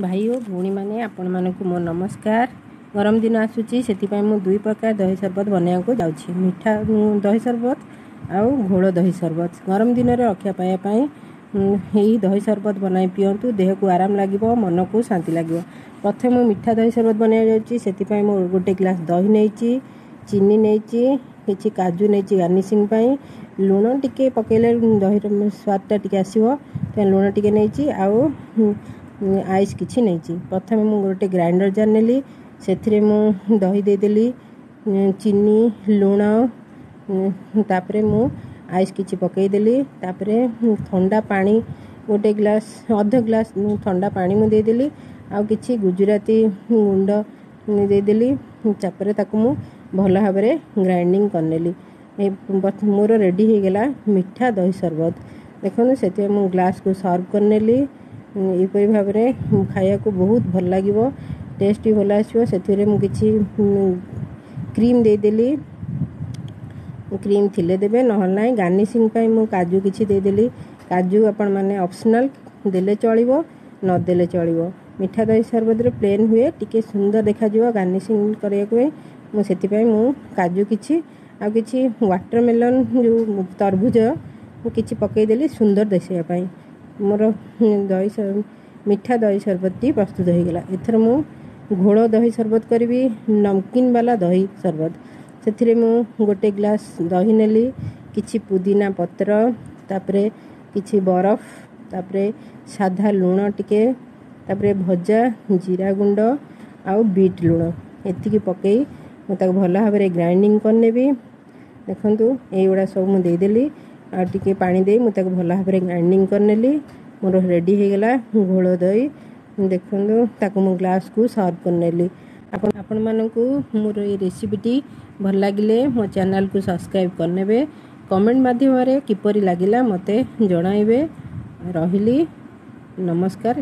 ଭାଇ ଓ ଭଉଣୀମାନେ, ଆପଣମାନଙ୍କୁ ମୋ ନମସ୍କାର। ଗରମ ଦିନ ଆସୁଛି, ସେଥିପାଇଁ ମୁଁ ଦୁଇ ପ୍ରକାର ଦହି ସରବତ ବନାଇବାକୁ ଯାଉଛି, ମିଠା ଦହି ସରବତ ଆଉ ଘୋଳ ଦହି ସରବତ। ଗରମ ଦିନରେ ରକ୍ଷା ପାଇବା ପାଇଁ ଏହି ଦହି ସରବତ ବନାଇ ପିଅନ୍ତୁ, ଦେହକୁ ଆରାମ ଲାଗିବ, ମନକୁ ଶାନ୍ତି ଲାଗିବ। ପ୍ରଥମେ ମୁଁ ମିଠା ଦହି ସରବତ ବନାଇବାକୁ ଯାଉଛି। ସେଥିପାଇଁ ମୁଁ ଗୋଟେ ଗ୍ଲାସ୍ ଦହି ନେଇଛି, ଚିନି ନେଇଛି, କିଛି କାଜୁ ନେଇଛି ଗାର୍ନିସିଂ ପାଇଁ। ଲୁଣ ଟିକେ ପକାଇଲେ ଦହିର ସ୍ୱାଦଟା ଟିକେ ଆସିବ, ତେଣୁ ଲୁଣ ଟିକେ ନେଇଛି ଆଉ ଆଇସ୍ କିଛି ନେଇଛି। ପ୍ରଥମେ ମୁଁ ଗୋଟେ ଗ୍ରାଇଣ୍ଡର ଜାର୍ ନେଲି, ସେଥିରେ ମୁଁ ଦହି ଦେଇଦେଲି, ଚିନି, ଲୁଣ, ତାପରେ ମୁଁ ଆଇସ୍ କିଛି ପକାଇଦେଲି। ତାପରେ ଥଣ୍ଡା ପାଣି ଗୋଟେ ଗ୍ଲାସ୍, ଅଧ ଗ୍ଲାସ୍ ଥଣ୍ଡା ପାଣି ମୁଁ ଦେଇଦେଲି ଆଉ କିଛି ଗୁଜୁରାତି ଗୁଣ୍ଡ ଦେଇଦେଲି। ତାପରେ ତାକୁ ମୁଁ ଭଲ ଭାବରେ ଗ୍ରାଇଣ୍ଡିଙ୍ଗ କରିନେଲି। ମୋର ରେଡ଼ି ହେଇଗଲା ମିଠା ଦହି ସରବତ। ଦେଖନ୍ତୁ, ସେଥିପାଇଁ ମୁଁ ଗ୍ଲାସ୍କୁ ସର୍ଭ କରିନେଲି। ଏହିପରି ଭାବରେ ଖାଇବାକୁ ବହୁତ ଭଲ ଲାଗିବ, ଟେଷ୍ଟ ବି ଭଲ ଆସିବ। ସେଥିରେ ମୁଁ କିଛି କ୍ରିମ୍ ଦେଇଦେଲି। କ୍ରିମ୍ ଥିଲେ ଦେବେ, ନହେଲେ ନାହିଁ। ଗାର୍ନିସିଂ ପାଇଁ ମୁଁ କାଜୁ କିଛି ଦେଇଦେଲି। କାଜୁ ଆପଣମାନେ ଅପସନାଲ୍, ଦେଲେ ଚଳିବ, ନଦେଲେ ଚଳିବ। ମିଠା ଦହି ସରବତରେ ପ୍ଲେନ୍ ହୁଏ, ଟିକେ ସୁନ୍ଦର ଦେଖାଯିବ ଗାର୍ନିସିଂ କରିବାକୁ ପାଇଁ ମୁଁ ସେଥିପାଇଁ ମୁଁ କାଜୁ କିଛି ଆଉ କିଛି ୱାଟରମେଲନ୍, ଯେଉଁ ତରଭୁଜ, ମୁଁ କିଛି ପକାଇଦେଲି ସୁନ୍ଦର ଦିଶିବା ପାଇଁ। ମୋର ଦହି ମିଠା ଦହି ସରବତଟି ପ୍ରସ୍ତୁତ ହୋଇଗଲା। ଏଥର ମୁଁ ଘୋଳ ଦହି ସରବତ କରିବି, ନମକିନ୍ ବାଲା ଦହି ସରବତ। ସେଥିରେ ମୁଁ ଗୋଟେ ଗ୍ଲାସ୍ ଦହି ନେଲି, କିଛି ପୁଦିନା ପତ୍ର, ତାପରେ କିଛି ବରଫ, ତାପରେ ସାଧା ଲୁଣ ଟିକେ, ତାପରେ ଭଜା ଜିରା ଗୁଣ୍ଡ ଆଉ ବିଟ୍ ଲୁଣ, ଏତିକି ପକାଇ ମୁଁ ତାକୁ ଭଲ ଭାବରେ ଗ୍ରାଇଣ୍ଡିଙ୍ଗ କରିନେବି। ଦେଖନ୍ତୁ, ଏଇଗୁଡ଼ା ସବୁ ମୁଁ ଦେଇଦେଲି ଆଉ ଟିକେ ପାଣି ଦେଇ ମୁଁ ତାକୁ ଭଲ ଭାବରେ ଗ୍ରାଇଣ୍ଡିଙ୍ଗ କରିନେଲି। ମୋର ରେଡ଼ି ହେଇଗଲା ଘୋଳ ଦହି। ଦେଖନ୍ତୁ, ତାକୁ ମୁଁ ଗ୍ଲାସ୍କୁ ସର୍ଭ କରିନେଲି। ଆପଣ ଆପଣମାନଙ୍କୁ ମୋର ଏଇ ରେସିପିଟି ଭଲ ଲାଗିଲେ ମୋ ଚ୍ୟାନେଲକୁ ସବସ୍କ୍ରାଇବ୍ କରିନେବେ। କମେଣ୍ଟ ମାଧ୍ୟମରେ କିପରି ଲାଗିଲା ମୋତେ ଜଣାଇବେ। ରହିଲି, ନମସ୍କାର।